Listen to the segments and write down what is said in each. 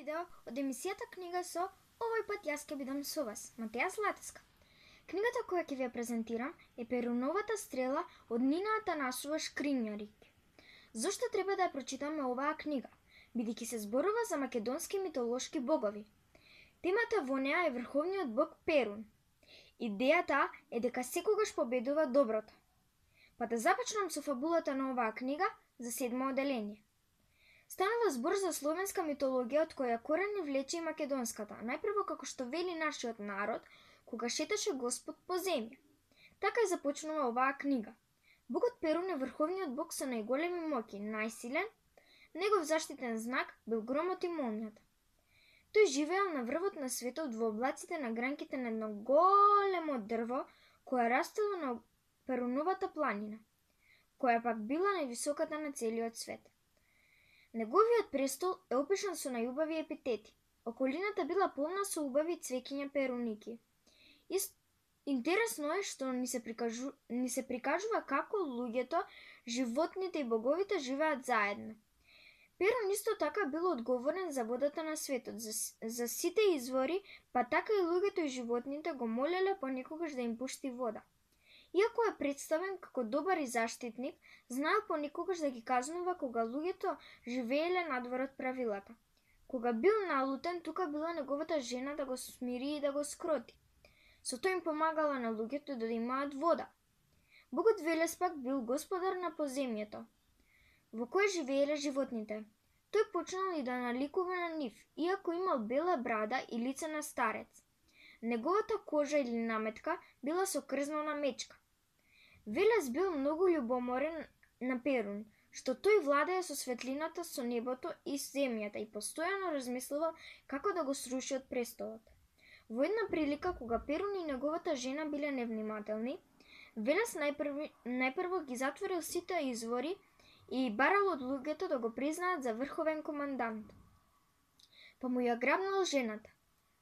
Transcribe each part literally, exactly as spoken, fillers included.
видео од емисијата Книга со, овој пат јас ќе бидам со вас, Матеја Златеска. Книгата која ќе ви ја презентирам е Перуновата стрела од Нина Атанасова Шкринјарик. Зошто треба да ја прочитаме оваа книга? Бидејќи се зборува за македонски митолошки богови. Темата во неа е врховниот бог Перун. Идејата е дека секогаш победува доброто. Па да започнам со фабулата на оваа книга за седмо оделение. Станува збор за словенска митологија од која корени влече и македонската, најпрво како што вели нашиот народ, кога шеташе Господ по земја. Така и започнува оваа книга. Богот Перун е врховниот бог со најголеми моќи, најсилен, негов заштитен знак бил громот и молњата. Тој живеел на врвот на светот во облаците на гранките на едно големо дрво, која растело на Перуновата планина, која пак била највисоката на целиот свет. Неговиот престол е опишан со најубави епитети. Околината била полна со убави цвеќиња перуники. Ист... Интересно е што ни се, прикажу... ни се прикажува како луѓето, животните и боговите живеат заедно. Перун исто така бил одговорен за водата на светот, за, за сите извори, па така и луѓето и животните го молеле понекогаш да им пушти вода. Иако е представен како добар и заштитник, знаел понекогаш да ги казнува кога луѓето живееле надвор од правилата. Кога бил налутен, тука била неговата жена да го смири и да го скроти. Со тоа им помагала на луѓето да имаат вода. Богот Велес пак бил господар на поземјето, во кое живееле животните. Тој почнал и да наликува на нив, иако имал бела брада и лице на старец. Неговата кожа или наметка била со крзнена мечка. Велес бил многу љубоморен на Перун, што тој владее со светлината, со небото и земјата и постојано размислувал како да го сруши од престолот. Во една прилика, кога Перун и неговата жена биле невнимателни, Велес најпрво, најпрво ги затворил сите извори и барал од луѓето да го признаат за врховен командант. Па му ја грабнал жената.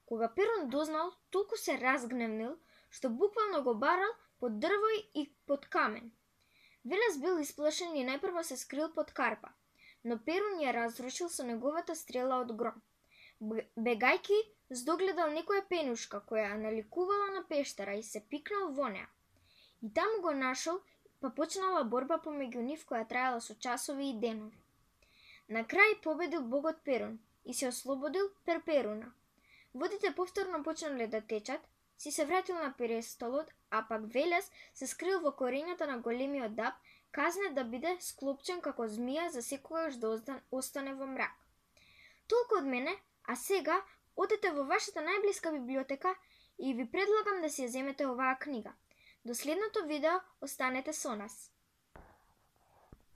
Кога Перун дознал, толку се разгневнил, што буквално го барал под дрво и под камен. Велес бил исплашен и најпрво се скрил под карпа, но Перун ја разрушил со неговата стрела од гром. Бегајки, здогледал некоја пенушка која наликувала на пештера и се пикнал во неа. И таму го нашол, па почнала борба помеѓу нив која траела со часови и денови. На крај победил богот Перун и се ослободил Перперуна. Водите повторно почнале да течат, си се вратил на престолот, а пак Велес се скрил во корењата на големиот даб, казнет да биде склопчен како змија за секогаш да остане во мрак. Толку од мене, а сега одете во вашата најблиска библиотека и ви предлагам да си ја земете оваа книга. До следното видео останете со нас.